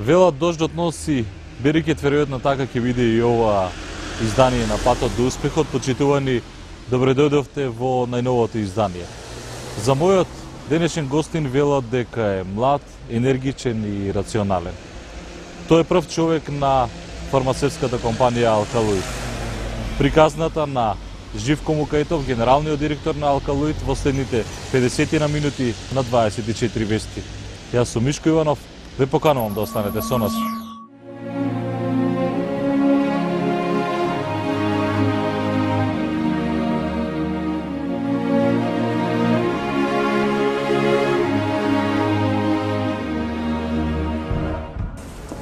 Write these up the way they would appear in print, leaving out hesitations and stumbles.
Велат дождот носи берекет, веројатно така ќе биде и ова издание на Патот до успехот. Почитувани, добре дојдовте во најновото издание. За мојот денешен гостин велат дека е млад, енергичен и рационален. Тој е прв човек на фармацевската компанија Алкалоид. Приказната на Живко Мукаитов, генералниот директор на Алкалоид, во следните 50 на минути на 24 вести. Јас сум Мишко Иванов, ве поканувам да останете со нас.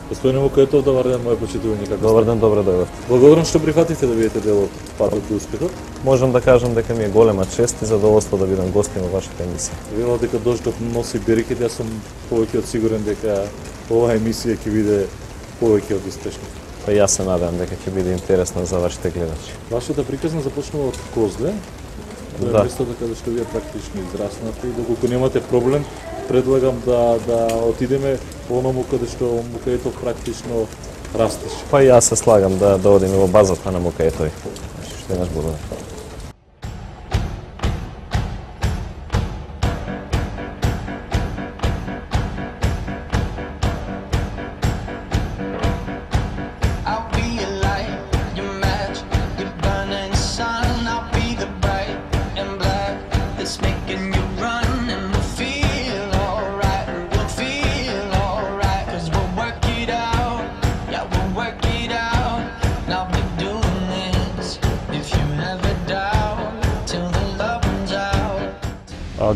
Господине Мукаитов, добар ден, мој почитувани, како Добар ден, добре дојдовте. Благодарам што прифативте да бидете дел од Патот до успехот. Можам да кажам дека ми е голема чест и задоволство да бидам гостин во вашата емисија. Велат дека дождот носи берекет, јас сум повеќе од сигурен дека оваа емисија ќе биде повеќе од успешна. Па јас се надевам дека ќе биде интересна за вашите гледачи. Вашата приказна започнува од Козле. Да. Местото каде што вие практично израснате и доколку немате проблем, предлагам да отидеме во оному каде што Мукаитов практично растеше. Па јас се слагам да одиме во базата на Мукаитови. Што еднаш благодарам.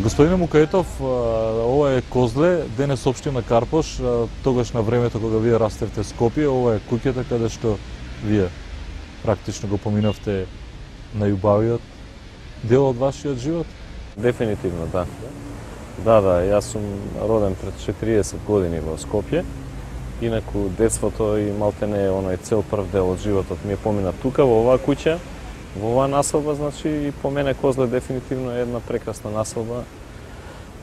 Господине Мукаитов, ова е Козле, денес општина Карпош, тогаш на времето кога вие растевте Скопје, ова е куќата каде што вие практично го поминавте најубавиот дел од вашиот живот? Дефинитивно, да. Да, јас сум роден пред 40 години во Скопје. Инаку детството и малтене оној цел прв дел од животот ми е помина тука во оваа куќа. Во оваа населба, значи, и по мене Козле дефинитивно е една прекрасна населба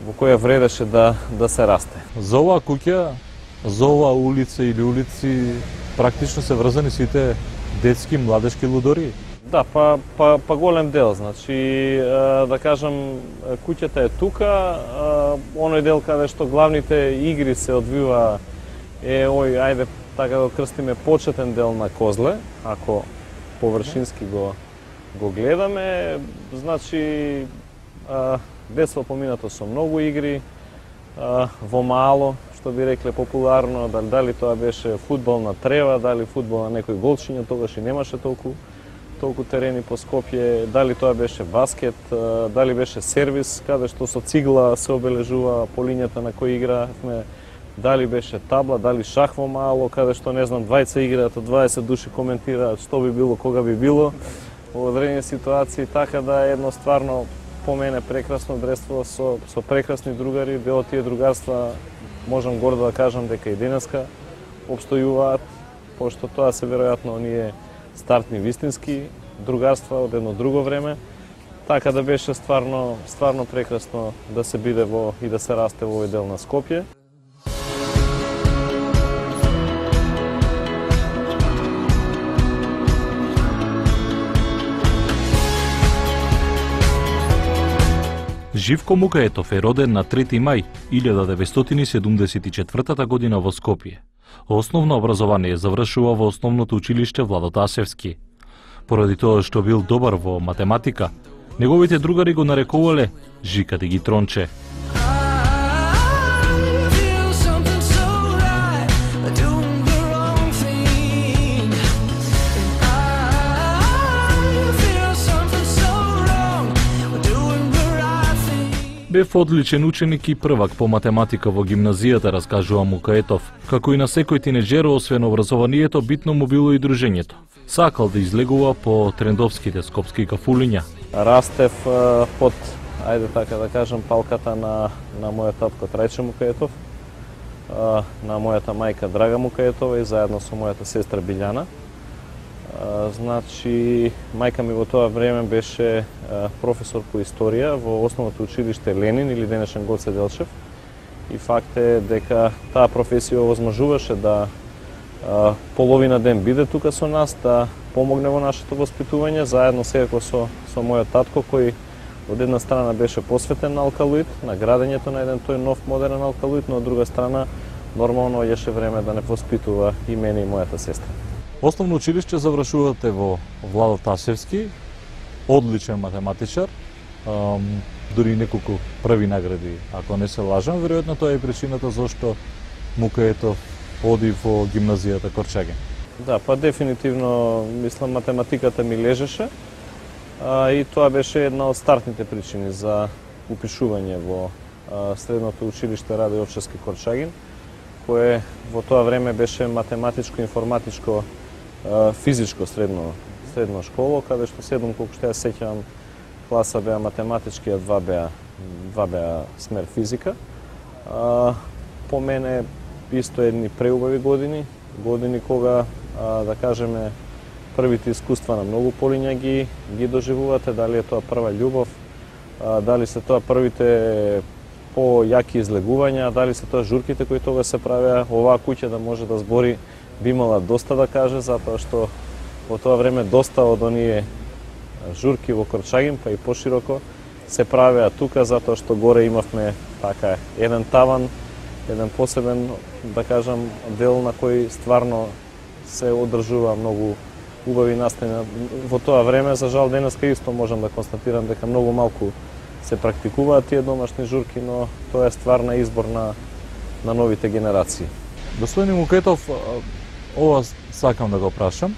во која вредеше да се расте. За оваа куќа, за оваа улица или улици, практично се врзани сите детски, младешки лудори? Да, па голем дел, значи, да кажам, куќата е тука, оној дел каде што главните игри се одвива е ој, ајде така да крстиме, почетен дел на Козле, ако површински го гледаме, значи детство поминато со многу игри, во мало, што би рекле популарно, дали тоа беше фудбал на трева, дали фудбал на некој голчиња, тогаш и немаше толку терени по Скопје, дали тоа беше баскет, дали беше сервис, каде што со цигла се обележува по линијата на кој игравме, дали беше табла, дали шах во мало, каде што, не знам, 20 играат, 20 души коментираат што би било, кога би било, во одредени ситуации, така да едно стварно по мене прекрасно детство со прекрасни другари, дел од тие другарства можам гордо да кажам дека и денеска опстојуваат, пошто тоа се веројатно оние стартни вистински другарства од едно друго време, така да беше стварно прекрасно да се биде и да се расте во овој дел на Скопје. Живко Мукаитов е роден на 3 мај 1974 година во Скопје. Основно образование завршува во основното училиште Владо Тасевски. Поради тоа што бил добар во математика, неговите другари го нарекувале Жика Дигитронче. Бев одличен ученик и првак по математика во гимназијата, раскажува Мукаитов. Како и на секој тинеџер, освен образованието, битно му било и дружењето. Сакал да излегува по трендовските скопски кафулиња. Растев под, ајде така да кажам, палката на мојот татко Трајче Мукаитов, на мојата мајка Драга Мукаитова и заедно со мојата сестра Билјана. Значи, мајка ми во тоа време беше професор по историја во основното училиште Ленин или денешен Гоце Делчев и факт е дека таа професија овозможуваше да половина ден биде тука со нас, да помогне во нашето воспитување, заедно секако со мојот татко, кој од една страна беше посветен на алкалоид, на градењето на еден тој нов модерен алкалоид, но од друга страна нормално еше време да не воспитува и мене и мојата сестра. Основно училиште завршувате во Владо Тасевски, одличен математичар, дури неколку први награди, ако не се лажам, веројатно тоа е причината зашто Мукаетов оди во гимназијата Корчагин. Да, па дефинитивно, мислам, математиката ми лежеше, и тоа беше една од стартните причини за упишување во средното училиште Раде Јовчевски Корчагин, кое во тоа време беше математичко-информатичко физичко средно школо, каде што 7, колку што ја сеќавам, класа беа математички, а 2 беа смер физика. По мене исто едни преубави години кога, да кажеме, првите искуства на многу полиња ги доживувате, дали е тоа прва љубов, дали се тоа првите по-јаки излегувања, дали се тоа журките кои тога се правеа. Оваа куќа да може да збори би имала доста да каже, затоа што во тоа време доста од оние журки во Корчагин, па и пошироко, се правеа тука, затоа што горе имавме така еден таван, еден посебен, да кажам, дел на кој стварно се одржува многу убави настани. Во тоа време, за жал, денеска исто можам да констатирам дека многу малку се практикуваат тие домашни журки, но тоа е стварна избор на новите генерации. Господин Мукаетов, ова сакам да го прашам,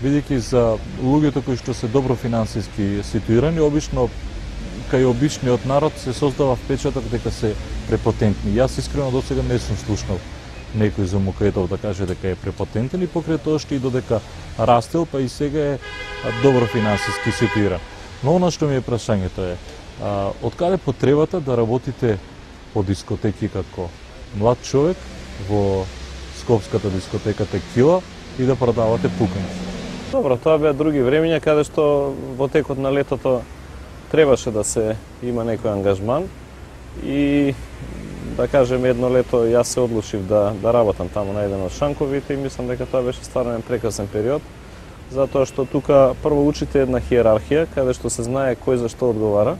бидејќи за луѓето кои што се добро финансиски ситуирани, обично кај обичниот народ се создава впечаток дека се препотентни. Јас искрено до сега не сум слушнал некој за Мукаетов да каже дека е препотентен и покрај тоа што и додека растел, па и сега е добро финансиски ситуиран. Но она што ми е прашањето е, од каде потребата да работите по дискотеки како млад човек во скопската дискотека Текила и да продавате пуканки? Добро, тоа беа други времења каде што во текот на летото требаше да се има некој ангажман и да кажем едно лето јас се одлучив да работам таму на еден од шанковите и мислам дека тоа беше стварно еден прекрасен период, затоа што тука прво учите една хиерархија каде што се знае кој за што одговара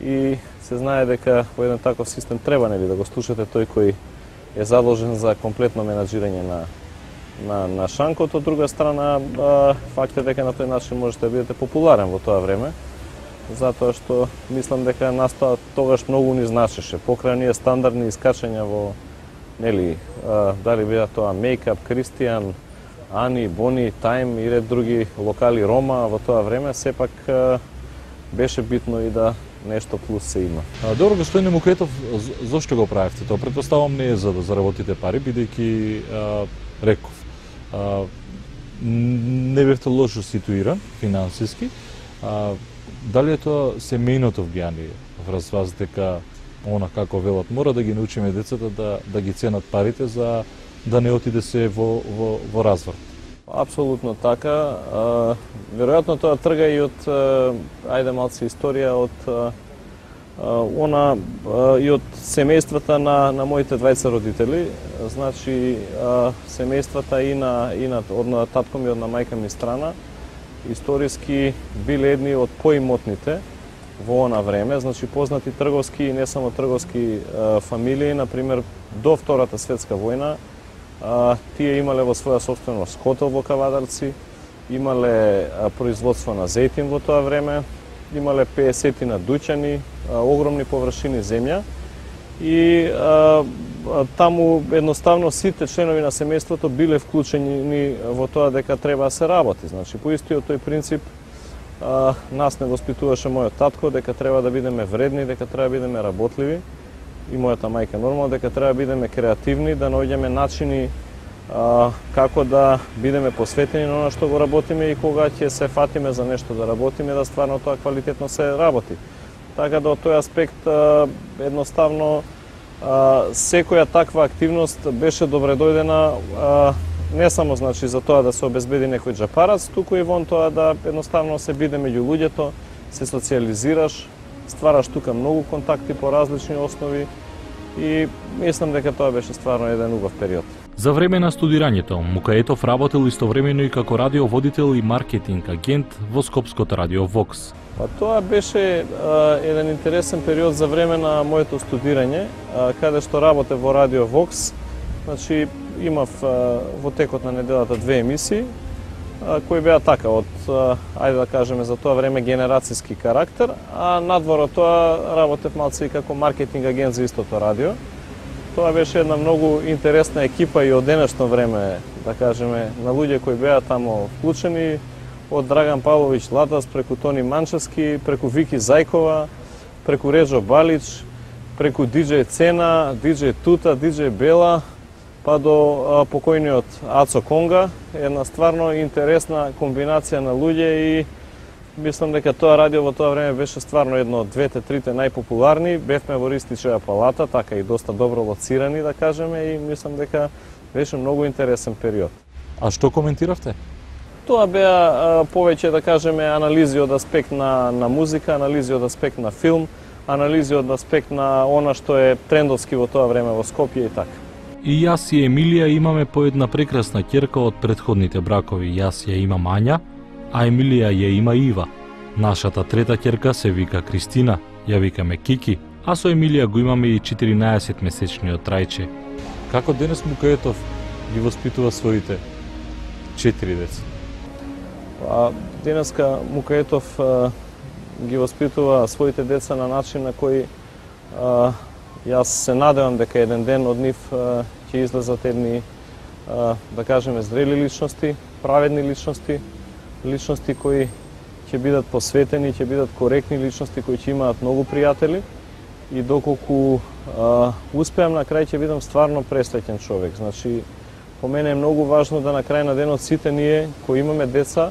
и се знае дека во еден таков систем треба нели да го слушате тој кој е задолжен за комплетно менаџирање на шанкот. Од друга страна, факт е дека на тој начин можете да бидете популарен во тоа време, затоа што мислам дека настаа тогаш многу ни значеше. Покрај оние стандардни искачања во, нели, дали беа тоа Мейкап, Кристијан, Ани, Бони, Тајм и ред други локали Рома во тоа време, сепак беше битно и да нешто плюс се има. Добро, господин Мукаетов, зошто го правевте тоа? Претпоставам не е за да заработите пари, бидејќи реков, не бевте лошо ситуиран финансиски. Дали е тоа семејното влијание врз вас дека она како велат мора да ги научиме децата да ги ценат парите за да не отиде се во разврат? Апсолутно така. Веројатно тоа трга и од ајде малце историја од и од семејствата на моите двајца родители. Значи семејствата и на татко ми, од на мајка ми страна, историски биле едни од поимотните во она време, значи познати трговски и не само трговски фамилии, например до Втората светска војна, тие имале во своја собственост хотел во Кавадарци, имале производство на зејтин во тоа време, имале 50 на дуќани, огромни површини земја и таму едноставно сите членови на семејството биле вклучени во тоа дека треба да се работи. Значи, по истиот тој принцип, нас не воспитуваше мојот татко дека треба да бидеме вредни, дека треба да бидеме работливи и мојата мајка нормално дека треба да бидеме креативни, да наоѓаме начини како да бидеме посветени на она што го работиме и кога ќе се фатиме за нешто да работиме, да стварно тоа квалитетно се работи. Така да од тој аспект едноставно секоја таква активност беше добре дојдена, не само значи за тоа да се обезбеди некој џапарац, туку и вон тоа да едноставно се биде меѓу луѓето, се социализираш, ствараш тука многу контакти по различни основи и мислам дека тоа беше стварно еден убав период. За време на студирањето, Мукаетов работел истовремено и како радиоводител и маркетинг агент во Скопското радио Вокс. Па тоа беше еден интересен период за време на моето студирање, каде што работев во радио Вокс. Значи имав во текот на неделата 2 емисии кои беа така од ајде да кажеме за тоа време генерацијски карактер, а надвор од тоа работев малце и како маркетинг агент за истото радио. Тоа беше една многу интересна екипа и од денешно време, да кажеме, на луѓе кои беа тамо вклучени, од Драган Павловиќ Латас, преку Тони Манчевски, преку Вики Зајкова, преку Реджо Балич, преку диџеј Цена, диџеј Тута, диџеј Бела, па до покојниот Ацо Конга, една стварно интересна комбинација на луѓе и мислам дека тоа радио во тоа време беше стварно едно од двете, трите најпопуларни. Бевме во Ристичева палата, така и доста добро лоцирани, да кажеме, и мислам дека беше многу интересен период. А што коментиравте? Тоа беа повеќе, да кажеме, анализи од аспект на музика, анализи од аспект на филм, анализи од аспект на она што е трендовски во тоа време во Скопје и така. И јас и Емилија имаме по една прекрасна ќерка од претходните бракови. Јас ја имам Ања, а Емилија ја има Ива. Нашата трета ќерка се вика Кристина, ја викаме Кики, а со Емилија го имаме и 14-месечниот Трајче. Како денес Мукаетов ги воспитува своите 4 деца? Денеска Мукаетов ги воспитува своите деца на начин на кој јас се надевам дека еден ден од нив ќе излезат едни, да кажеме, зрели личности, праведни личности, личности кои ќе бидат посветени, ќе бидат коректни личности, кои ќе имаат многу пријатели и доколку успеам на крај ќе бидам стварно пресреќен човек. Значи, по мене е многу важно да на крај на денот сите ние кои имаме деца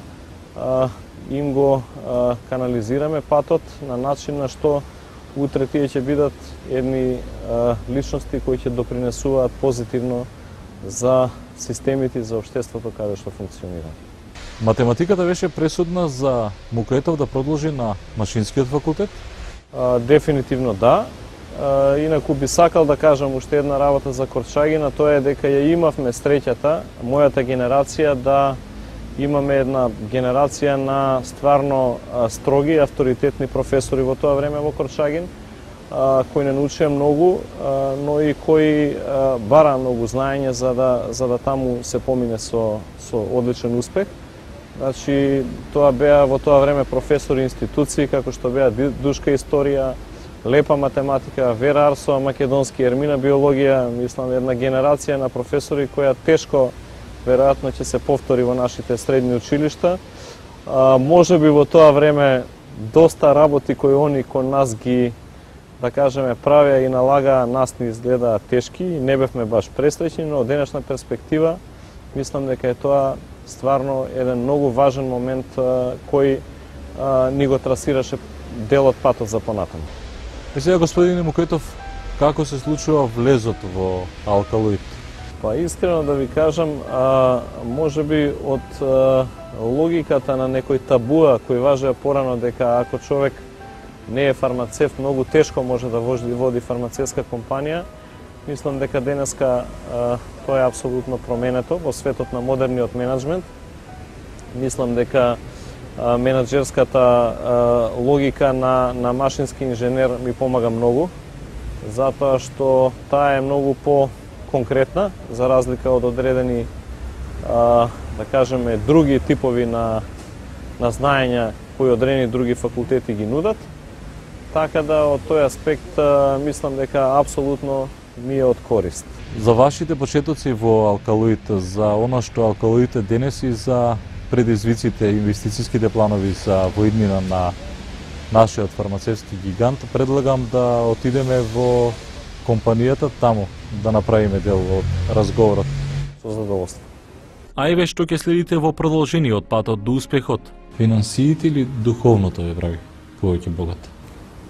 им го канализираме патот на начин на што утре тие ќе бидат едни личности кои ќе допринесуваат позитивно за системите и за општеството каде што функционира. Математиката беше пресудна за Мукаетов да продолжи на машинскиот факултет? Дефинитивно да. Инаку би сакал да кажам уште една работа за Корчагина, тоа е дека ја имавме среќата, мојата генерација, да имаме една генерација на стварно строги, авторитетни професори во тоа време во Корчагин, кои не научија многу, но и кои бара многу знаење за да таму се помине со одличен успех. Значи, тоа беа во тоа време професори институции, како што беа Душка историја, Лепа математика, Вера Арсова македонски, Ермина биологија, мислам една генерација на професори која тешко веројатно ќе се повтори во нашите средни училишта. Може би во тоа време доста работи кои они кон нас ги, да кажеме, правеа и налагаа, нас ни изглеdaa тешки и не бевме баш пресреќни, но од денешна перспектива мислам дека е тоа стварно еден многу важен момент кој ни го трасираше дел од патот за понатаму. Сега, господине Мукаетов, како се случува влезот во Алкалоид? Па искрено да ви кажам, може би од логиката на некој табуа кој важеа порано дека ако човек не е фармацевт, многу тешко може да води фармацевска компанија. Мислам дека денеска тоа е апсолутно променето во светот на модерниот менеджмент. Мислам дека менаџерската логика на машински инженер ми помага многу, затоа што таа е многу по-конкретна, за разлика од одредени, да кажеме, други типови на знаења кои одредени други факултети ги нудат. Така да, од тој аспект, мислам дека апсолутно ми е од корист. За вашите почетоци во Алкалоид, за она што Алкалоид е денес и за предизвиците, инвестицијските планови за воиднина на нашиот фармацевски гигант, предлагам да отидеме во компанијата таму, да направиме дел од разговорот. Со задоволство. Ајве, што ќе следите во продолжениот патот до успехот? Финансиите или духовното ве прави повеќе богат?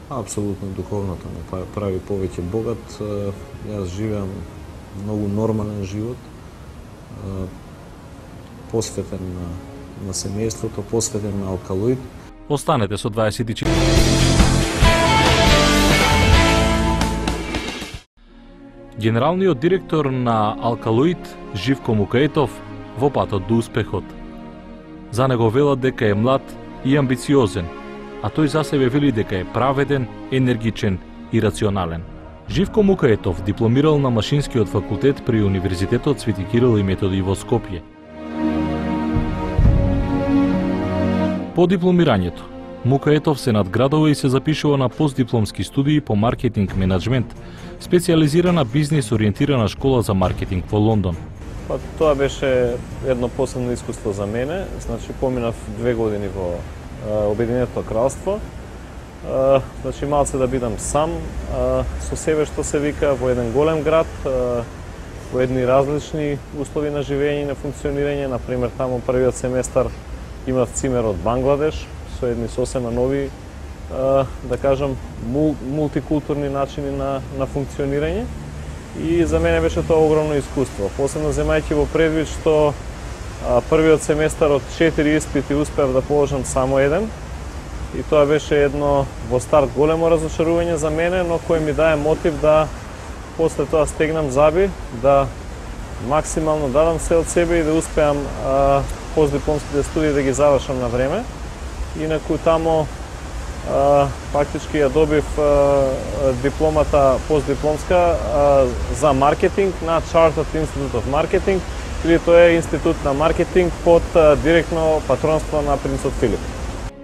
Апсолутно духовното ме прави повеќе богат. Јас живеам многу нормален живот, посветен на семејството, посветен на Алкалоид. Останете со 24. Генералниот директор на Алкалоид, Живко Мукаетов, во патот до успехот. За него велат дека е млад и амбициозен, а тој за себе вели дека е праведен, енергичен и рационален. Живко Мукаетов дипломирал на Машинскиот факултет при Универзитетот Свети Кирил и Методи во Скопје. По дипломирањето, Мукаетов се надградува и се запишува на постдипломски студии по маркетинг менеджмент, специјализирана бизнис ориентирана школа за маркетинг во Лондон. Па тоа беше едно посебно искуство за мене. Значи поминав 2 години во Обединетото кралство. Значи малце да бидам сам со себе, што се вика, во еден голем град, во едни различни услови на живење и на функционирање. Например, таму првиот семестар имав цимер од Бангладеш, со едни сосема нови, да кажам, мултикултурни начини на функционирање. И за мене беше тоа огромно искуство. Посебно земајќи во предвид што првиот семестар од 4 испити успеав да положам само еден. И тоа беше едно во старт големо разочарување за мене, но кој ми даде мотив да после тоа стегнам заби, да максимално дадам се од себе и да успеам постдипломските студии да ги завршам на време. Инаку тамо фактички ја добив дипломата постдипломска за маркетинг на Chartered Institute of Marketing, или тоа е институт на маркетинг под директно патронство на принцот Филип.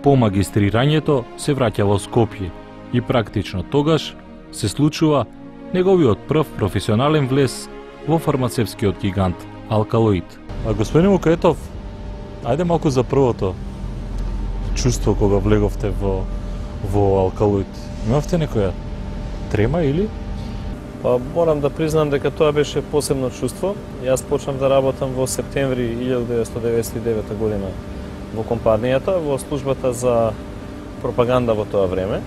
По магистрирањето се враќа во Скопје и практично тогаш се случува неговиот прв професионален влез во фармацевскиот гигант Алкалоид. А господин Мукаетов, ајде малку за првото чувство кога влеговте во Алкалоид. Имавте некоја трема или? Па морам да признам дека тоа беше посебно чувство. Јас почнав да работам во септември 1999 година во компанијата, во службата за пропаганда во тоа време.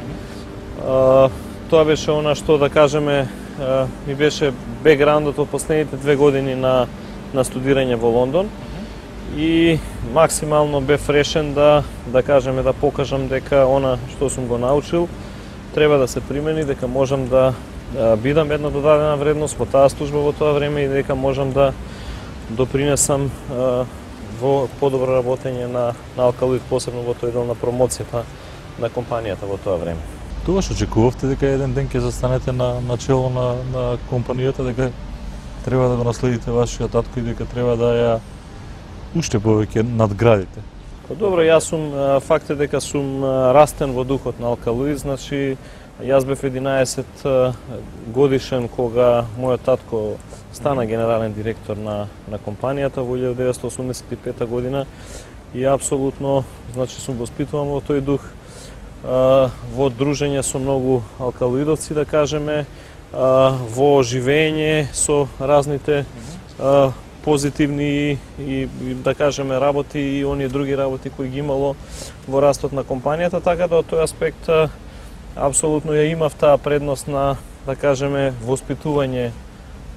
Тоа беше она што, да кажеме, ми беше бекграундот од последните 2 години на студирање во Лондон. И максимално бев решен да кажеме, да покажам дека она што сум го научил треба да се примени, дека можам да бидам една додадена вредност во таа служба во тоа време и дека можам да допринесам во подобро работење на Алкалоид, посебно во тој дел на промоцијата на компанијата во тоа време. Тогаш очекувавте дека еден ден ќе застанете на чело на компанијата, дека треба да го наследите вашиот татко и дека треба да ја уште повеќе надградите? Па добро, јас сум, факт е дека сум растен во духот на Алкалоид, значи јас бев 11 годишен кога мојот татко стана генерален директор на компанијата во 1985 година и апсолутно, значи, сум воспитуван во тој дух, во дружење со многу алкалоидовци, да кажеме, во живење со разните позитивни и да кажеме работи и оние други работи кои ги имало во растот на компанијата, така да од тој аспект апсолутно ја имав таа предност на, да кажеме, воспитување,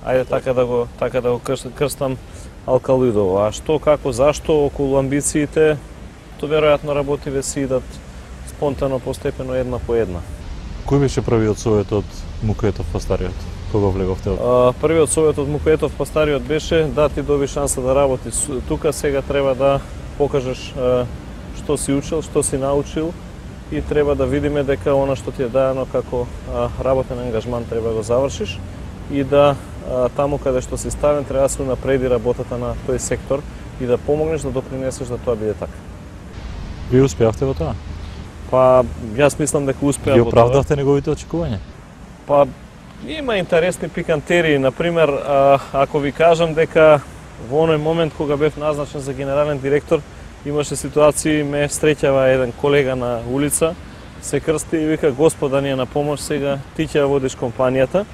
ајде така да го крстам, Алкалоидово. А што, како, зашто, околу амбициите, то веројатно работи ве си идат спонтано, постепено, една по една. Кој беше првиот совет од Мукаетов Постариот, кога влеговте? Првиот совет од Мукаетов Постариот беше да ти доби шанса да работиш тука, сега треба да покажеш што си учил, што си научил и треба да видиме дека она што ти е даено како работен ангажман треба да го завршиш и да таму каде што си ставен треба да се унапреди работата на тој сектор и да помогнеш да допринесеш да тоа биде така. Вие успеавте во тоа? Па, јас мислам дека успеав во во тоа. Ги оправдавте неговите очекувања? Па, има интересни пикантерии. Например, ако ви кажам дека во оној момент кога бев назначен за генерален директор, имаше ситуации, ме среќава еден колега на улица, се крсти и вика: "Господа ни е на помош сега, ти ќе водиш компанијата."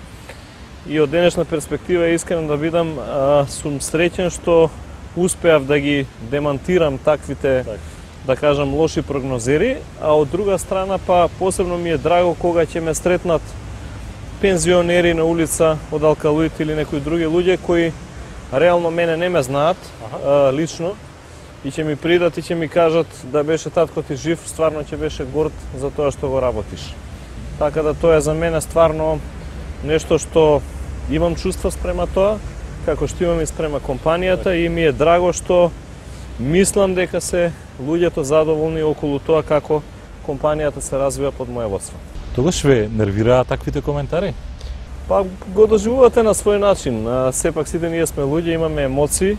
И од денешна перспектива, искрено да бидам, сум среќен што успеав да ги демантирам таквите, да кажам, лоши прогнозери, а од друга страна па посебно ми е драго кога ќе ме сретнат пензионери на улица од Алкалоид или некои други луѓе кои реално мене не ме знаат лично и ќе ми придат и ќе ми кажат да беше татко ти жив, стварно ќе беше горд за тоа што го работиш. Така да тоа е за мене стварно нешто што имам чувства спрема тоа, како што имам и спрема компанијата и ми е драго што мислам дека се луѓето задоволни околу тоа како компанијата се развива под моје водство. Тогаш ве нервираа таквите коментари? Па го доживувате на свој начин. Сепак сите ние сме луѓе, имаме емоции,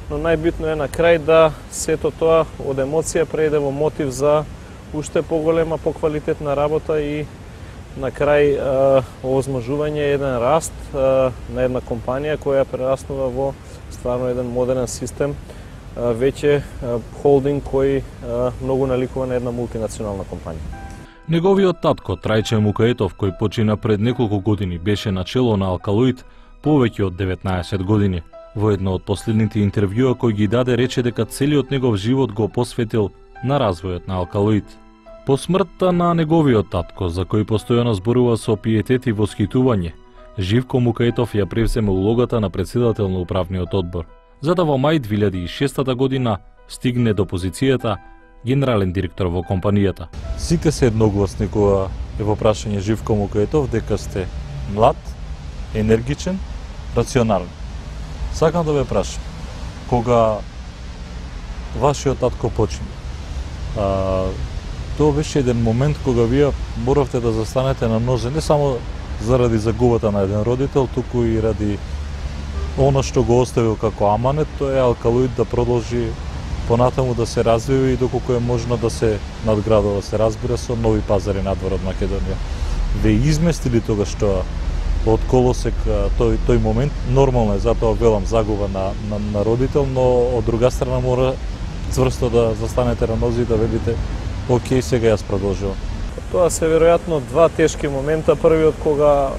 но најбитно е на крај да сето тоа од емоција преиде во мотив за уште поголема, поквалитетна работа и на крај овозможување еден раст на една компанија која прераснува во стварно еден модерен систем, веќе холдинг кој многу наликува на една мултинационална компанија. Неговиот татко Трајче Мукаетов, кој почина пред неколку години, беше начело на Алкалоид повеќе од 19 години. Во едно од последните интервјуа кој ги даде рече дека целиот негов живот го посветил на развојот на Алкалоид. По смртта на неговиот татко, за кој постојано зборува со пиетет и восхитување, Живко Мукаетов ја превземе улогата на председател на управниот одбор, за да во мај 2006 година стигне до позицијата генерален директор во компанијата. Сите се едногласни кога е во прашање Живко Мукаетов дека сте млад, енергичен, рационален. Сакам да ве прашам, кога вашиот татко почина, тоа беше еден момент кога вие моравте да застанете на нозе, не само заради загубата на еден родител, туку и ради она што го оставил како аманет, тоа е Алкалоид да продолжи понатаму да се развива и доколку е можно да се надградува, се разбира, со нови пазари надвор од Македонија. Ве изместили тогаш тоа од колосек тој момент, нормално е, затоа велам загуба на родител, но од друга страна мора цврсто да застанете на нози и да велите окей, сега јас продолжувам. Тоа се веројатно два тешки момента. Првиот кога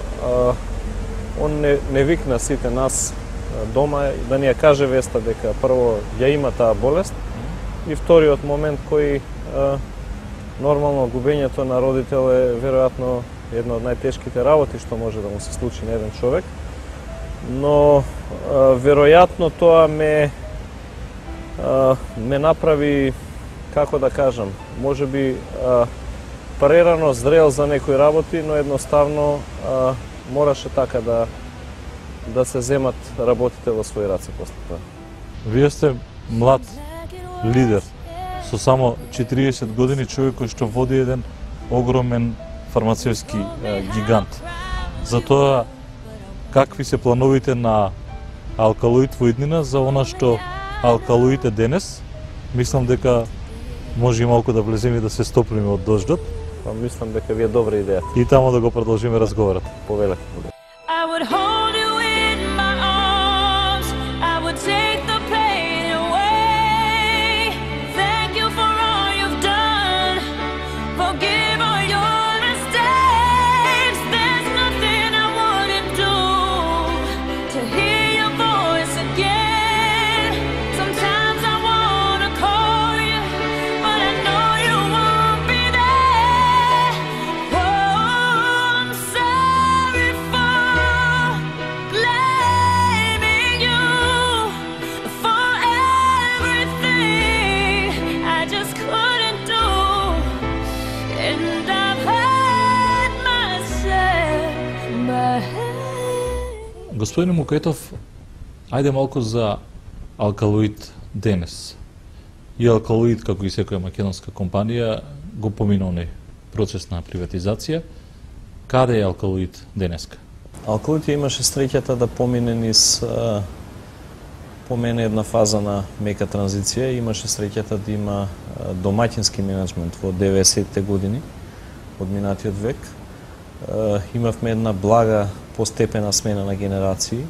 он не викна сите нас дома да ни ја каже веста дека прво ја има таа болест, и вториот момент кој нормално губењето на родител е веројатно една од најтешките работи што може да му се случи на еден човек, но веројатно тоа ме направи, како да кажам, можеби прерано зрел за некои работи, но едноставно мораше така да се земат работите во своји раце после тоа. Вие сте млад лидер со само 40 години, човек кој што води еден огромен фармацевски гигант. Затоа, какви се плановите на Алкалоид во иднина за она што Алкалоид е денес? Мислам дека може и малку да влеземе да се стоплиме од дождот. Па мислам дека ви е добра идеја. И тамо да го продолжиме разговорот. Повелете. Господин Мукаетов, ајде малку за Алкалоид денес. И Алкалоид, како и секоја македонска компанија, го помина оној процес на приватизација. Каде е Алкалоид денеска? Алкалоид имаше среќата да помине една фаза на мека транзиција, имаше среќата да има домаќински менеджмент во 90-те години од минатиот век. Имавме една блага постепена смена на генерации.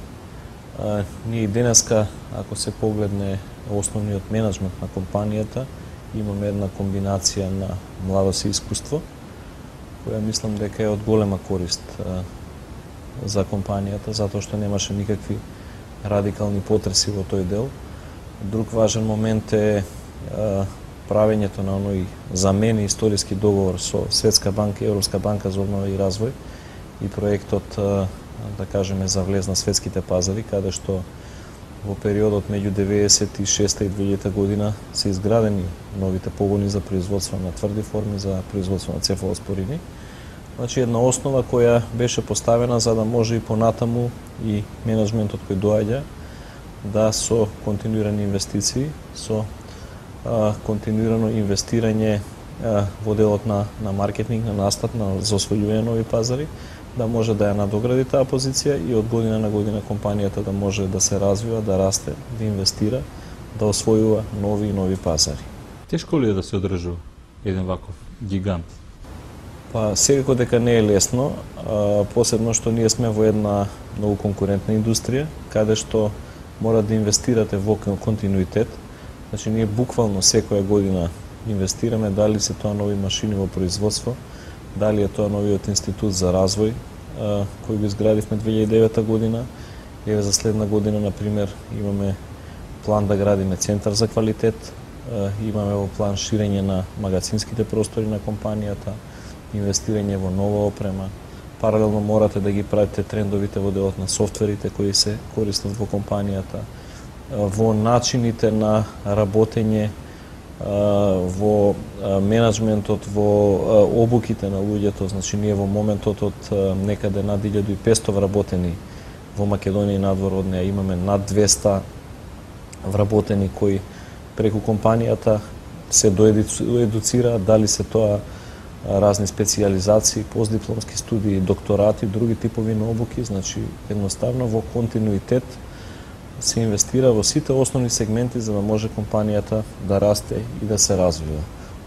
Ние и денеска, ако се погледне основниот менеджмент на компанијата, имаме една комбинација на младост и искуство, која мислам дека е од голема корист за компанијата, затоа што немаше никакви радикални потреси во тој дел. Друг важен момент е правењето на оној замени историски договор со Светска банка и Европска банка за обнова и развој и проектот, да кажеме, за влез на светските пазари, каде што во периодот меѓу 96 и 2000 година се изградени новите погони за производство на тврди форми, за производство на цефалоспорини, Значи една основа која беше поставена за да може и понатаму и менеджментот кој доаѓа да со континуирани инвестиции, со континуирано инвестирање во делот на маркетинг, на настат, за освојување нови пазари, да може да ја надогради таа позиција и од година на година компанијата да може да се развива, да расте, да инвестира, да освојува нови и нови пазари. Тешко ли е да се одржува еден ваков гигант? Па секако дека не е лесно, посебно што ние сме во една многу конкурентна индустрија, каде што мора да инвестирате во континуитет. Значи ние буквално секоја година инвестираме, дали се тоа нови машини во производство, дали е тоа новиот институт за развој кој го изградивме 2009 година. Еве за следна година, например, имаме план да градиме центар за квалитет, имаме во план ширење на магазинските простори на компанијата, инвестирање во нова опрема. Паралелно морате да ги пратите трендовите во делот на софтверите кои се користат во компанијата, во начините на работење, во менеджментот, во обуките на луѓето. Значи ние во моментот од некаде над 1500 вработени во Македонија и надвор од неа имаме над 200 вработени кои преку компанијата се доедуцираат, дали се тоа разни специјализации, постдипломски студии, докторати, други типови на обуки. Значи едноставно во континуитет се инвестира во сите основни сегменти за да може компанијата да расте и да се развива.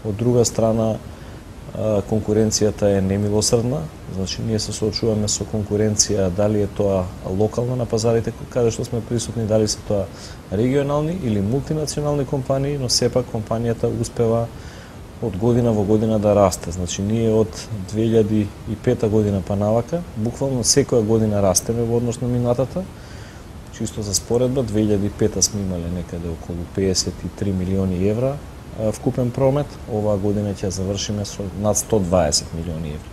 Од друга страна, конкуренцијата е немилосрдна, значи ние се соочуваме со конкуренција, дали е тоа локална на пазарите каде што сме присутни, дали се тоа регионални или мултинационални компании, но сепак компанијата успева од година во година да расте. Значи ние од 2005 година па навака, буквално секоја година растеме во однос на минатата. Чисто за споредба, 2005 сме имале некаде околу 53 милиони евра вкупен промет, оваа година ќе завршиме со над 120 милиони евра.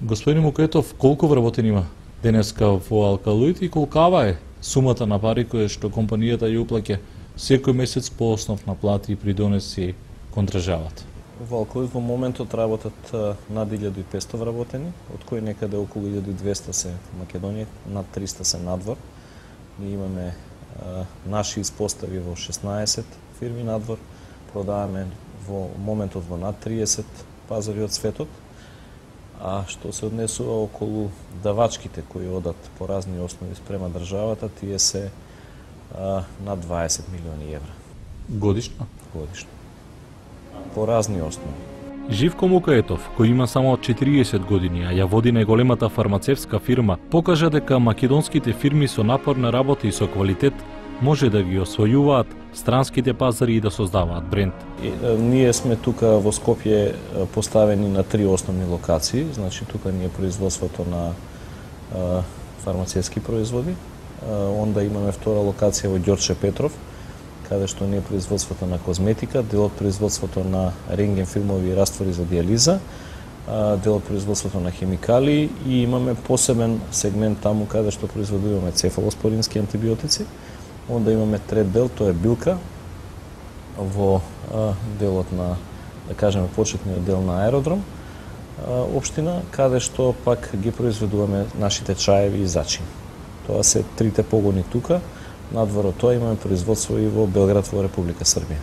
Господин Мукетов, колку вработени има денеска во Алкалоид и колкава е сумата на пари која што компанијата ја уплаќа секој месец по основ на плати и придонеси кон државата? Во Алкалоид во моментот работат над 1500 вработени, од кои некаде околу 1200 се во Македонија, над 300 се надвор. Ние имаме наши испостави во 16 фирми надвор, продаваме во моментот во над 30 пазари од светот, а што се однесува околу давачките кои одат по разни основи спрема државата, тие се над 20 милиони евра. Годишно? Годишно. По разни основи. Живко Мукаетов, кој има само 40 години, а ја води најголемата фармацевтска фирма, покажа дека македонските фирми со напорна работа и со квалитет може да ги освојуваат странските пазари и да создаваат бренд. Ние сме тука во Скопје поставени на 3 основни локации, значи тука ни е производството на фармацевтски производи, онда имаме втора локација во Ѓорче Петров, каде што не е производството на козметика, дел од производството на рентген филмови и раствори за дијализа, дел од производството на хемикали и имаме посебен сегмент таму каде што произведуваме цефалоспорински антибиотици. Онда имаме трет дел, тоа е билка во делот на, да кажеме, почетниот дел на аеродром општина, каде што пак ги произведуваме нашите чаеви и зачини. Тоа се трите погони тука. Надвор од тоа имаме производство и во Белград во Република Србија.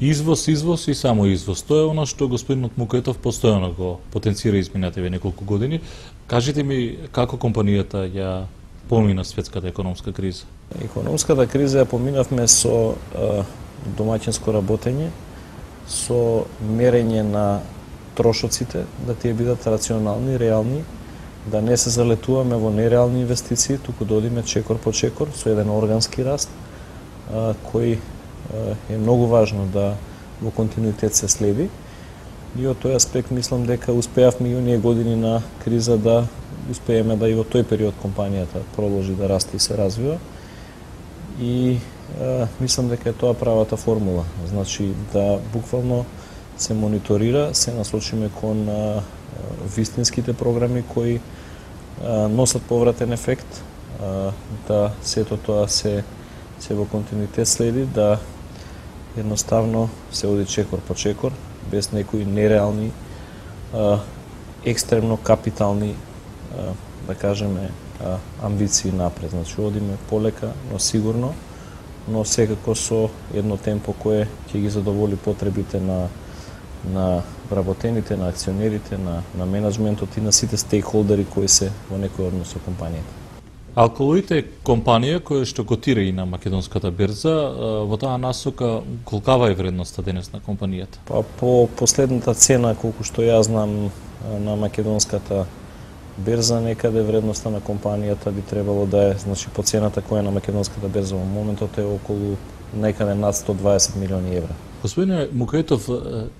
Извоз и само извоз. Тоа е она што господинот Мукетов постојано го потенцира изминативе неколку години. Кажете ми како компанијата ја помина светската економска криза? Економската криза ја поминавме со домаќинско работење, со мерење на трошоците, да тие бидат рационални, реални, да не се залетуваме во нереални инвестиции, туку да одиме чекор по чекор со еден органски раст, кој е многу важно да во континуитет се следи. И од тој аспект мислам дека успеавме и оние години на криза да успееме да и во тој период компанијата продолжи да расте и се развива. И мислам дека е тоа правата формула. Значи да буквално се мониторира, се насочиме кон вистинските програми кои носат повратен ефект, да сето тоа се во континуитет следи, да едноставно се оди чекор по чекор, без некои нереални екстремно капитални, да кажеме, амбиции напред. Значи, одиме полека, но сигурно, но секако со едно темпо кое ќе ги задоволи потребите на вработените, на акционерите, на менеджментот и на сите стейкхолдери кои се во некој однос со компанијата. Алкалоид е компанија која што котира и на македонската берза. Во таа насока, колкава е вредноста денес на компанијата? Па по последната цена, колку што ја знам, на македонската берза, некаде вредноста на компанијата би требало да е, значи по цената која е на македонската берза во моментот е околу некаде над 120 милиони евра. Господине Мукаетов,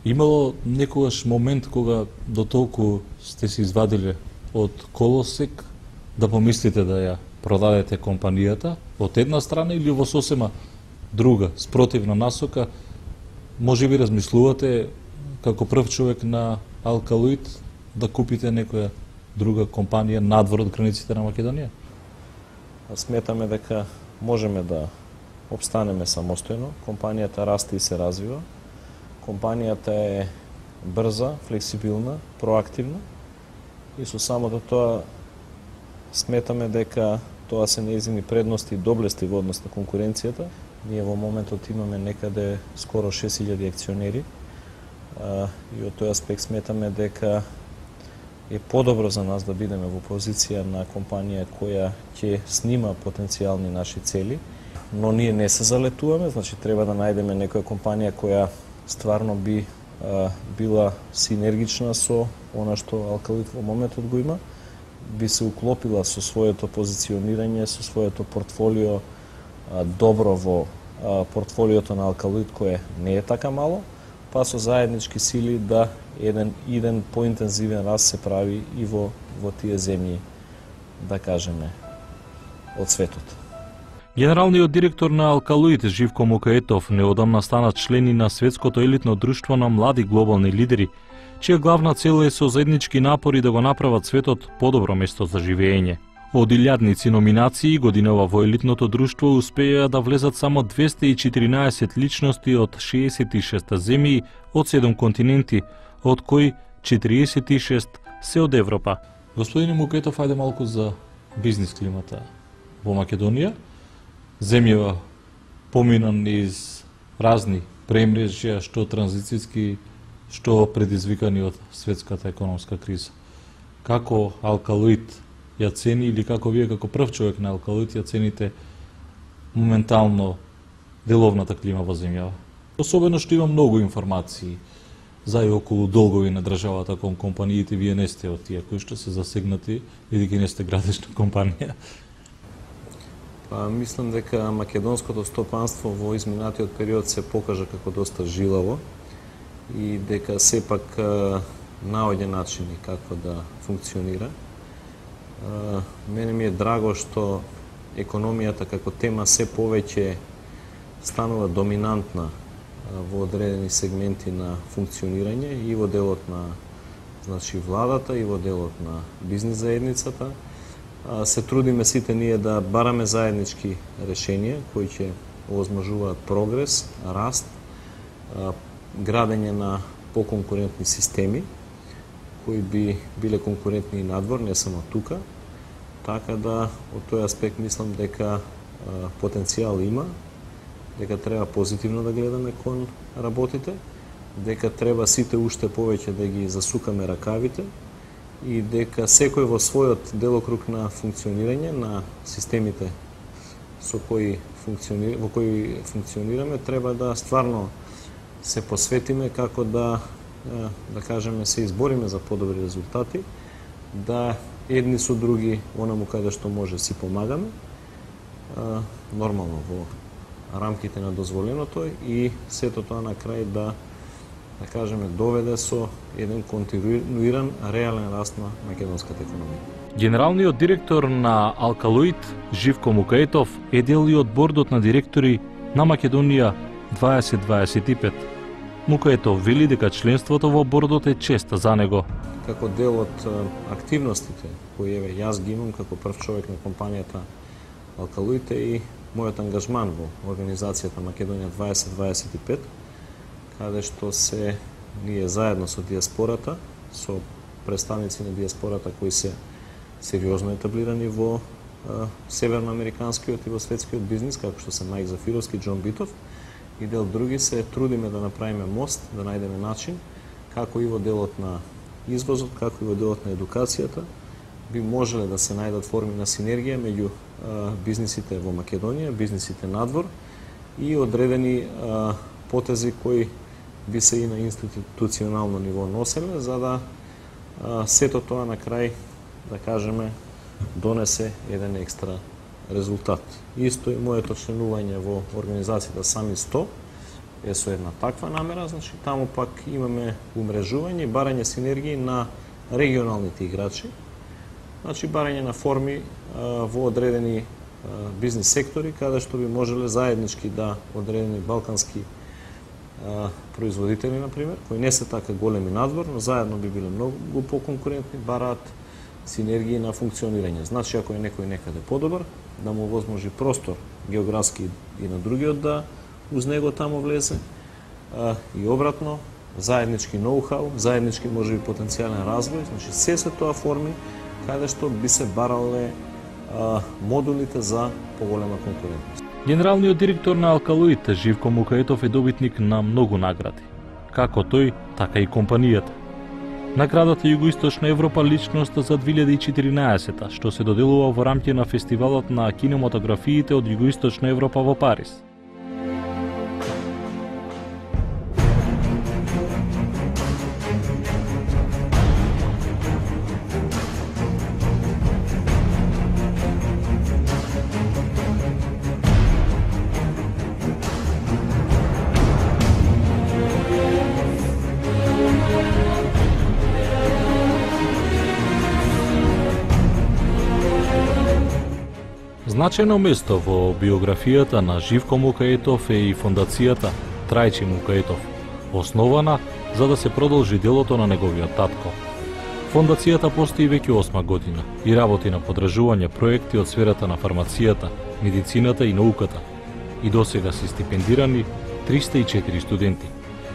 имало некогаш момент кога до толку сте се извадиле од колосек да помислите да ја продадете компанијата од една страна или во сосема друга, спротивна насока, може би размислувате како прв човек на Алкалоид да купите некоја друга компанија надвор од границите на Македонија? Сметаме дека можеме да обстанеме самостојно, компанијата расте и се развива, компанијата е брза, флексибилна, проактивна и со самото тоа сметаме дека тоа се нејзини предности и доблести во однос на конкуренцијата. Ние во моментот имаме некаде скоро 6000 акционери и од тој аспект сметаме дека е подобро за нас да бидеме во позиција на компанија која ќе снима потенцијални наши цели, но ние не се залетуваме, значи треба да најдеме некоја компанија која стварно би била синергична со она што Алкалоид во моментот го има, би се уклопила со своето позиционирање, со своето портфолио добро во портфолиото на Алкалоид кое не е така мало, па со заеднички сили да еден поинтензивен раст се прави и во тие земји, да кажеме, од светот. Генералниот директор на Алкалоид Живко Мукаетов неодамна стана член и на светското елитно друштво на млади глобални лидери, чија главна цел е со заеднички напори да го направат светот подобро место за живење. Од илјадници номинации годинава во елитното друштво успеа да влезат само 214 личности од 66 земји од 7 континенти, од кои 46 се од Европа. Господине Мукаетов, ајде малку за бизнис климата во Македонија. Земјава помина низ разни премрежја, што транзицијски, што предизвикани од светската економска криза. Како Алкалоид ја цени или како вие како прв човек на Алкалоид ја цените моментално деловната клима во земјава? Особено што има многу информации за и околу долгови на државата кон компаниите, вие не сте од тие кои што се засегнати, бидејќи не сте градишна компанија. Па, мислам дека македонското стопанство во изминатиот период се покажа како доста жилаво и дека сепак наоѓа начини како да функционира. Мене ми е драго што економијата како тема се повеќе станува доминантна во одредени сегменти на функционирање и во делот на, значи, владата и во делот на бизнис заедницата. Се трудиме сите ние да бараме заеднички решенија кои ќе овозможуваат прогрес, раст, градење на поконкурентни системи кои би биле конкурентни и надвор, не само тука. Така да, од тој аспект мислам дека потенцијал има, дека треба позитивно да гледаме кон работите, дека треба сите уште повеќе да ги засукаме ракавите и дека секој во својот делокруг на функционирање на системите во кои функционираме, треба да стварно се посветиме како да кажеме, се избориме за подобри резултати, да едни со други онаму каде што може си помагаме, нормално во рамките на дозволеното и сето тоа на крај да кажеме, доведе со еден континуиран реален раст на македонската економија. Генералниот директор на Алкалоид Живко Мукаетов е дел и од бордот на директори на Македонија 2025. Мукаетов вели дека членството во бордот е чест за него. Како дел од активностите кои јас ги имам како прв човек на компанијата Алкалоид и мојот ангажман во организацијата Македонија 2025, каде што се ние заедно со диаспората, со представници на диаспората кои се сериозно етаблирани во северноамериканскиот и во светскиот бизнис, како што се Мајк Зафировски, Џон Битов, и дел други се трудиме да направиме мост, да најдеме начин како и во делот на извозот, како и во делот на едукацијата би можеле да се најдат форми на синергија меѓу бизнисите во Македонија, бизнисите надвор и одредени потези кои би се и на институционално ниво носеле, за да сето тоа на крај, да кажеме, донесе еден екстра резултат. Исто и моето членување во организацијата Сами 100 е со една таква намера, значи таму пак имаме умрежување и барање синергии на регионалните играчи, значи барање на форми во одредени бизнис сектори, каде што би можеле заеднички да одредени балкански производители, например, кои не се така големи надвор, но заедно би биле многу поконкурентни, бараат синергии на функционирање. Значи, ако е некој некаде подобар, да му возможи простор географски и на другиот да уз него тамо влезе, и обратно, заеднички ноу-хау, заеднички можеби потенцијален развој, значи се тоа форми каде што би се барале модулите за поголема конкурентност. Генералниот директор на Алкалоид, Живко Мукаетов, е добитник на многу награди. Како тој, така и компанијата. Наградата Југоисточна Европа личност за 2014, што се доделува во рамките на фестивалот на кинематографиите од Југоисточна Европа во Париз. Значајно место во биографијата на Живко Мукаетов е и фондацијата Трајчи Мукаетов, основана за да се продолжи делото на неговиот татко. Фондацијата постои веќе 8 година и работи на подржување проекти од сферата на фармацијата, медицината и науката. И досега се стипендирани 304 студенти.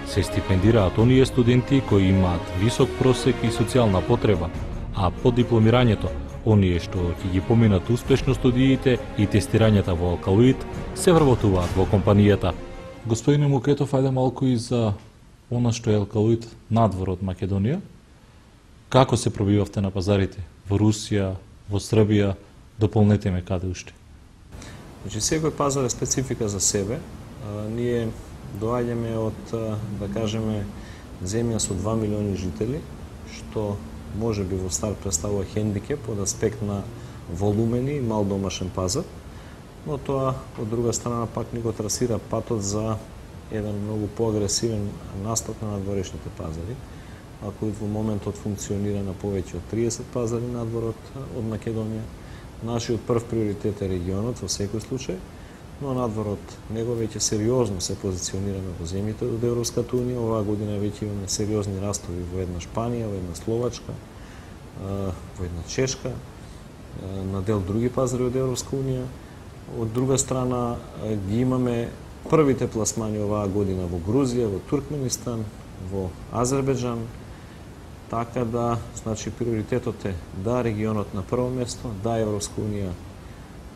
Се стипендираат оние студенти кои имаат висок просек и социјална потреба, а по дипломирањето оние што ќе ги поминат успешно студиите и тестирањата во Алкалоид се вработуваат во компанијата. Господине Мукаетов, ајде малку и за она што е Алкалоид надвор од Македонија. Како се пробивавте на пазарите? Во Русија, во Србија, дополнете ме каде уште. Значи, секој пазар е специфика за себе. Ние доаѓаме од, да кажеме, земја со 2 милиони жители, што може би во старт представува хендикеп од аспект на волумени и мал домашен пазар, но тоа од друга страна пак ни го трасира патот за еден многу поагресивен настап на надворешните пазари. Ако во моментот функционира на повеќе од 30 пазари надвор од Македонија, нашиот прв приоритет е регионот во секој случај, но надвор од него веќе сериозно се позиционираме во земјите од Европската унија. Оваа година веќе имаме сериозни растови во една Шпанија, во една Словачка, во една Чешка, на дел други пазари од Европска унија. Од друга страна ги имаме првите пласмани оваа година во Грузија, во Туркменистан, во Азербејџан, така да, значи, приоритетот е да регионот на прво место, да Европска унија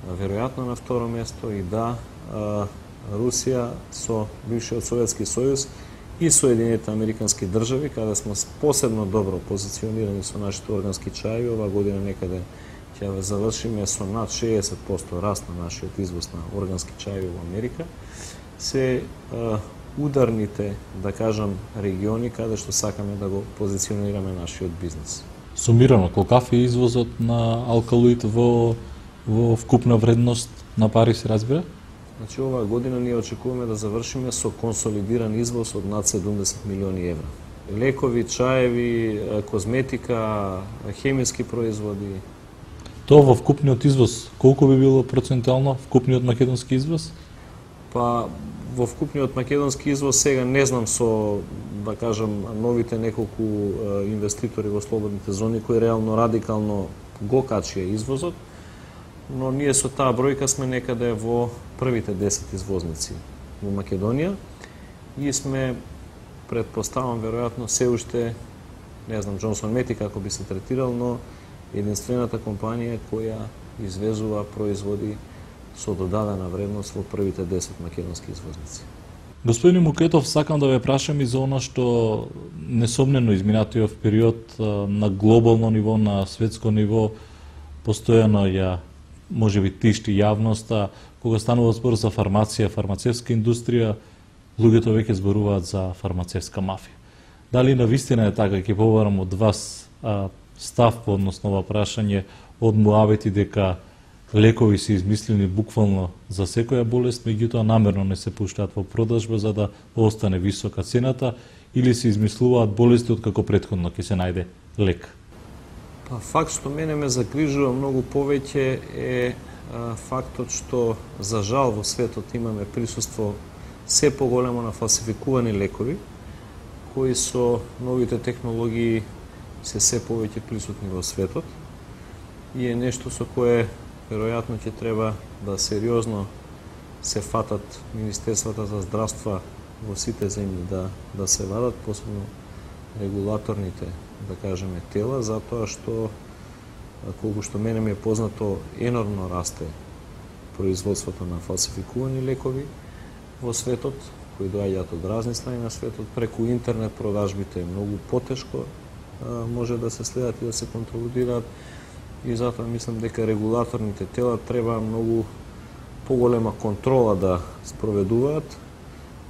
веројатно на второ место и да Русија со бившиот Советски сојуз и Соединените Американски држави, каде сме посебно добро позиционирани со нашите органски чаи. Оваа година некаде ќе завршиме со над 60% раст на нашиот извоз на органски чаи во Америка. Се ударните, да кажам, региони каде што сакаме да го позиционираме нашиот бизнес. Сумирано, колкав е извозот на Алкалоид во вкупна вредност на Париз, разбира? Значи, оваа година ние очекуваме да завршиме со консолидиран извоз од над 70 милиони евра. Лекови, чаеви, козметика, хемиски производи. Тоа во вкупниот извоз, колку би било процентуално вкупниот македонски извоз? Па, во вкупниот македонски извоз сега не знам со, да кажам, новите неколку инвеститори во слободните зони кои реално радикално го качија извозот, но ние со таа бројка сме некаде во првите 10 извозници во Македонија и сме, предпоставам, веројатно се уште не знам Джонсон Мети како би се третирал, но единствената компанија која извезува производи со додадена вредност во првите 10 македонски извозници. Господин Мукетов, сакам да ве прашам и за она што несомнено изминатиот период на глобално ниво, на светско ниво, постојано ја можеби тишти јавноста, кога станува збор за фармација, фармацевска индустрија, луѓето веќе зборуваат за фармацевска мафија. Дали навистина е така, ќе побарам од вас став по односно ова прашање од муавети дека лекови се измислени буквално за секоја болест, меѓутоа намерно не се пуштаат во продажба за да остане висока цената, или се измислуваат болести од како претходно ќе се најде лек? Па, факт што мене ме загрижува многу повеќе е фактот што за жал во светот имаме присуство се поголемо на фалсификувани лекови, кои со новите технологии се повеќе присутни во светот и е нешто со кое веројатно ќе треба да сериозно се фатат Министерствата за здравство во сите земји да се вадат, посебно регулаторните, да кажеме, тела, затоа што, колку што мене ми е познато, енормно расте производството на фалсификувани лекови во светот, кои доаѓаат од разни страни на светот. Преку интернет продажбите е многу потешко може да се следат и да се контролираат, и затоа мислам дека регулаторните тела треба многу поголема контрола да спроведуваат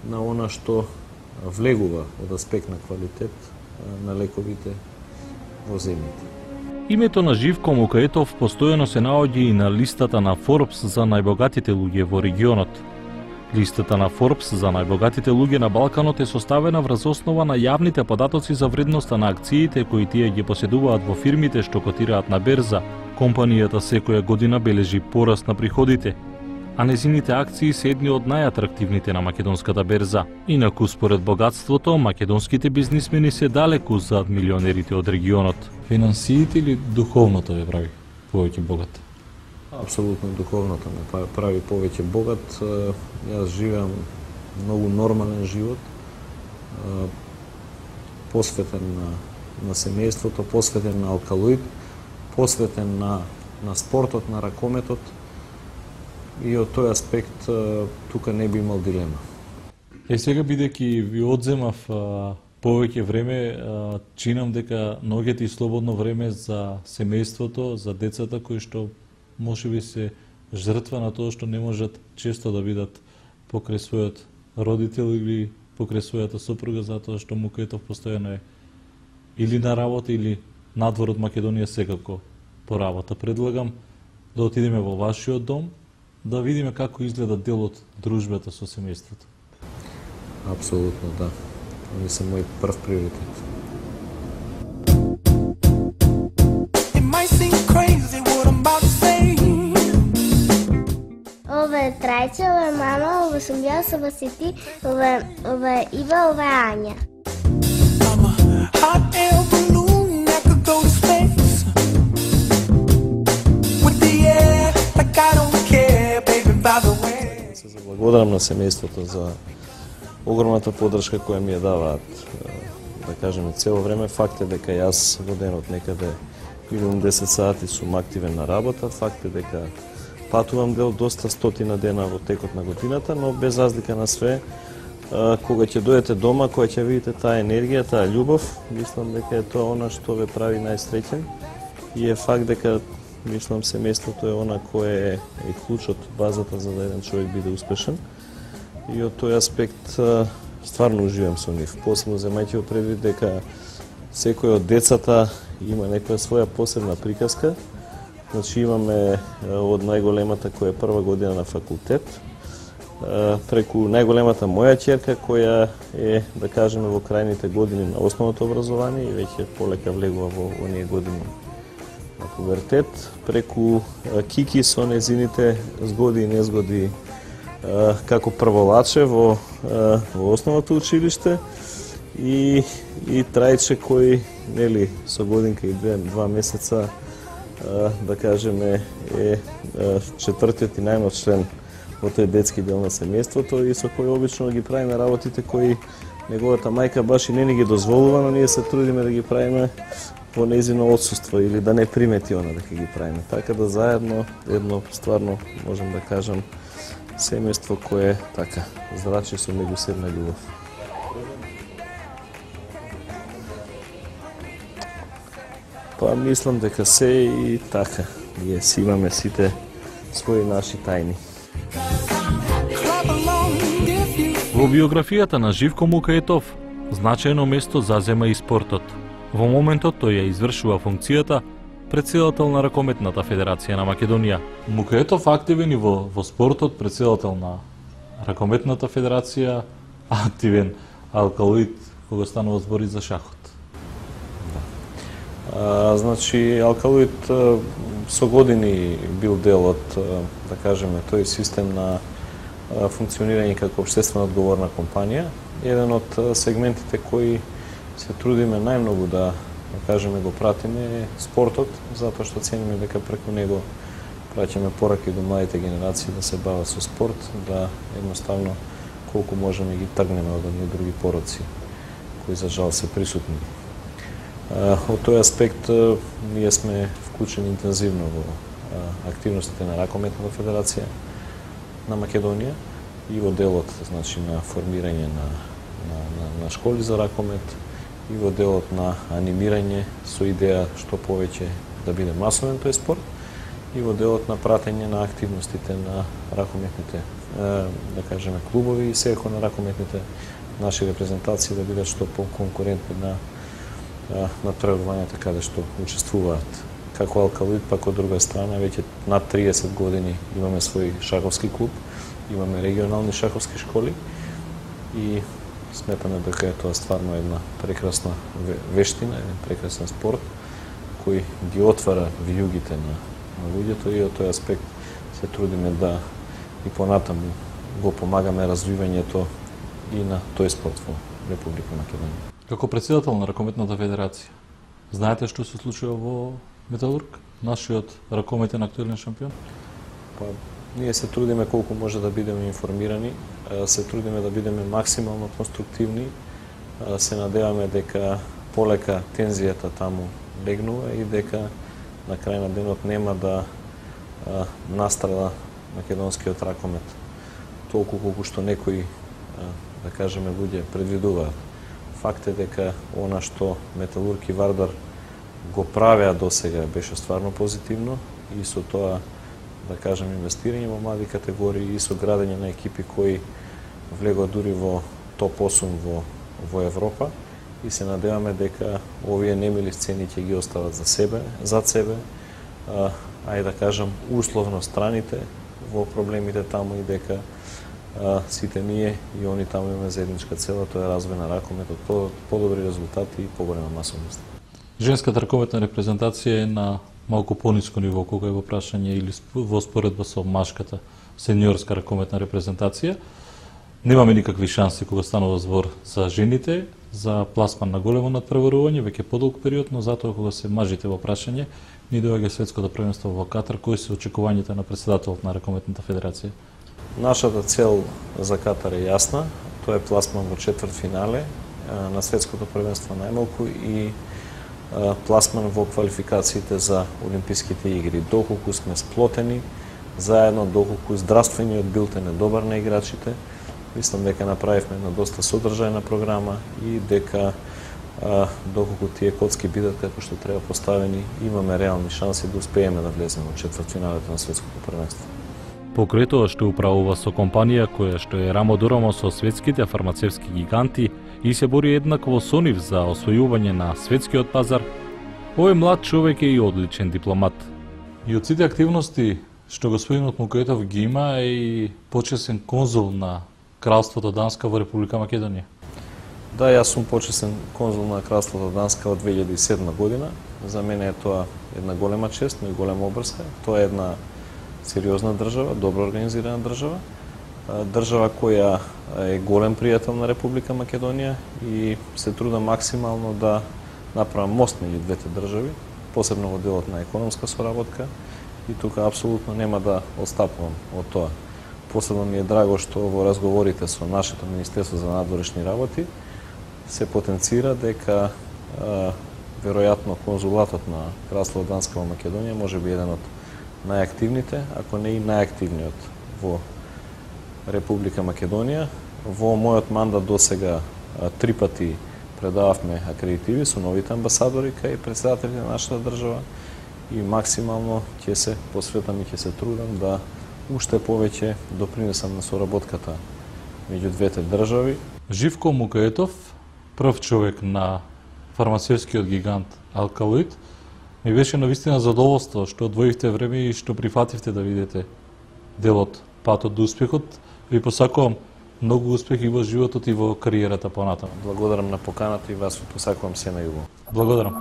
на она што влегува од аспект на квалитет на лековите во земјите. Името на Живко Мукаетов постојано се наоѓа и на листата на Forbes за најбогатите луѓе во регионот. Листата на Forbes за најбогатите луѓе на Балканот е составена врз основа на јавните податоци за вредноста на акциите кои тие ги поседуваат во фирмите што котираат на берза. Компанијата секоја година бележи пораст на приходите, а незините акции се едни од најатрактивните на македонската берза. Инаку, според богатството, македонските бизнисмени се далеку зад милионерите од регионот. Финансиите или духовното ве прави повеќе богат? Апсолутно духовното ме прави повеќе богат. Јас живеам многу нормален живот, посветен на семејството, посветен на алкалоид, посветен на спортот, на ракометот, и од тој аспект тука не би имал дилема. Сега бидејќи ви одземав повеќе време, чинам дека наоѓате и слободно време за семејството, за децата кои што можеби се жртва на тоа што не можат често да бидат покрај својот родител или покрај својата сопруга, затоа што Мукаетов постојано е или на работа или надвор од Македонија, секако по работа. Предлагам да отидеме во вашиот дом, да видиме како изгледа дел од дружбата со семејството. Апсолутно, да. Они се мој прв приоритет. Ова е Трајче, ова е мама, ова сум јас, ова си ти, ова е Ива, ова е Ања. Се заблагодарам на семејството за огромната поддршка која ми ја даваат, да кажеме, цело време. Факт е дека јас во денот некаде минимум 10 сати сум активен на работа, факт е дека патувам дел доста стотина дена во текот на годината, но без разлика на све, кога ќе дојдете дома, кога ќе видите таа енергија, таа љубов, мислам дека е тоа она што ве прави најсреќен, и е факт дека мислам семејството е она кое е клучот, базата за да еден човек биде успешен, и од тој аспект стварно уживам со нив. Посебно земајќи во предвид дека секој од децата има некоја своја посебна приказка. Значи имаме од најголемата која е прва година на факултет, преку најголемата моја ќерка која е, да кажеме, во крајните години на основното образование и веќе полека влегува во оние години на пубертет, преку Кики со незините згоди и незгоди како прволаче во основното училиште, и Трајче кој, нели, со годинка и 2 месеца, да кажеме, е четвртиот и најмлад член во тој детски дел на семејството, и со кој обично ги правиме работите кои неговата мајка баш и не ни ги дозволува, но ние се трудиме да ги правиме во нејзино отсуство или да не примети она дека ги правиме. Така да заедно едно стварно можам да кажам семејство кое така зрачи со меѓусебна љубов. Па мислам дека се и така. Ние си имаме сите своји наши тајни. Во биографијата на Живко Мукаетов значајно место зазема и спортот. Во моментот тој ја извршува функцијата претседател на Ракометната федерација на Македонија. Мукаетов активен и во спортот, претседател на Ракометната федерација, активен алкалоид кога станува збори за шахот. Значи, алкалоид со години бил дел од, да кажеме, тој систем на функционирање како општествено одговорна компанија. Еден од сегментите кои се трудиме најмногу да кажеме го пратиме е спортот, затоа што цениме дека преку него праќаме пораки до младите генерации да се бават со спорт, да едноставно колку можеме ги тргнеме од оние други пороци кои за жал се присутни. Од тој аспект ние сме вклучени интензивно во активностите на Ракометната федерација на Македонија и во делот, значи, на формирање на школи за ракомет и во делот на анимирање со идеја што повеќе да биде масовен тој спорт и во делот на пратење на активностите на ракометните, да кажеме, клубови и секако на ракометните наши репрезентации да бидат што по-конкурентни на натпреварувањата каде што учествуваат. Како алкалоид, пак од друга страна, веќе над 30 години имаме свој шаховски клуб, имаме регионални шаховски школи и сметаме дека е тоа стварно една прекрасна вештина, еден прекрасен спорт кој ги отвара вијугите на луѓето и од тој аспект се трудиме да и понатаму го помагаме развивањето и на тој спорт во Република Македонија. Како претседател на Ракометната федерација, знаете што се случува во Металург, нашиот ракометен актуелен шампион? Па, ние се трудиме колку може да бидеме информирани, се трудиме да бидеме максимално конструктивни, се надеваме дека полека тензијата таму легнува и дека на крај на денот нема да настрада македонскиот ракомет толку колку што некои, да кажеме, луѓе предвидуваат. Факт е дека она што Металург и Вардар го правеа досега беше стварно позитивно и со тоа, да кажем, инвестирање во млади категории и со градење на екипи кои влегоа дури во топ 8 во Европа и се надеваме дека овие немили сцени ќе ги остават зад себе, да кажам, условно страните во проблемите таму и дека сите ние и они таму имаме заедничка цела, тоа е развој на ракометот, подобри резултати и поголема масовност. Женската ракометна репрезентација е на малку пониско ниво кога е во прашање или во споредба со машката сениорска ракометна репрезентација. Немаме никакви шанси кога станува збор за жените, за пласман на големо надпреварување, веќе подолг период, но затоа кога се мажите во прашање, ни доаѓа светското првенство во Катар. Кои се очекувањата на претседателот на Ракометната федерација? Нашата цел за Катар е јасна, тоа е пласман во четвртфинале на светското првенство најмалку и пласман во квалификациите за Олимписките игри. Доколку сме сплотени заедно, доколку здравствениот билтен е добар на играчите, мислам дека направивме една доста содржајна програма и дека доколку тие коцки бидат како што треба поставени, имаме реални шанси да успееме да влеземе во четвртфиналето на светското првенство. Покрај тоа што управува со компанија која што е рамо до рамо со светските фармацевски гиганти и се бори еднакво со нив за освојување на светскиот пазар, овој млад човек е и одличен дипломат. И од сите активности што господинот Мукаетов ги има е и почесен конзул на Кралството Данска во Република Македонија. Да, јас сум почесен конзул на Кралството Данска од 2007 година. За мене е тоа една голема чест, но и голема обрска. Тоа е една сериозна држава, добро организирана држава, држава која е голем пријател на Република Македонија и се труда максимално да направам мост меѓу двете држави, посебно во делот на економска соработка и тука апсолутно нема да отстапувам од тоа. Посебно ми е драго што во разговорите со нашето Министерство за надворешни работи се потенцира дека веројатно конзулатот на Кралство Данска во Македонија може би еден од најактивните, ако не и најактивниот во Република Македонија. Во мојот мандат досега 3 пати предававме акредитиви со новите амбасадори кај претседателите на нашата држава и максимално ќе се посветам и ќе се трудам да уште повеќе допринесам на соработката меѓу двете држави. Живко Мукаетов, прв човек на фармацевскиот гигант Алкалоид, ми беше навистина задоволство што одвоивте време и што прифативте да видите делот Патот до успехот. Ви посакувам многу успех и во животот и во кариерата понатаму. Благодарам на поканата и вас ви посакувам се најубаво. Благодарам.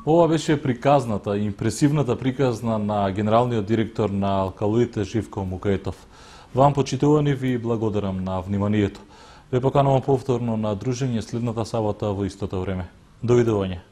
Ова беше приказната, импресивната приказна на генералниот директор на Алкалоид Живко Мукаетов. Вам, почитувани, ви благодарам на вниманието. Ве поканувам повторно на дружење следната сабота во истото време. Довидување.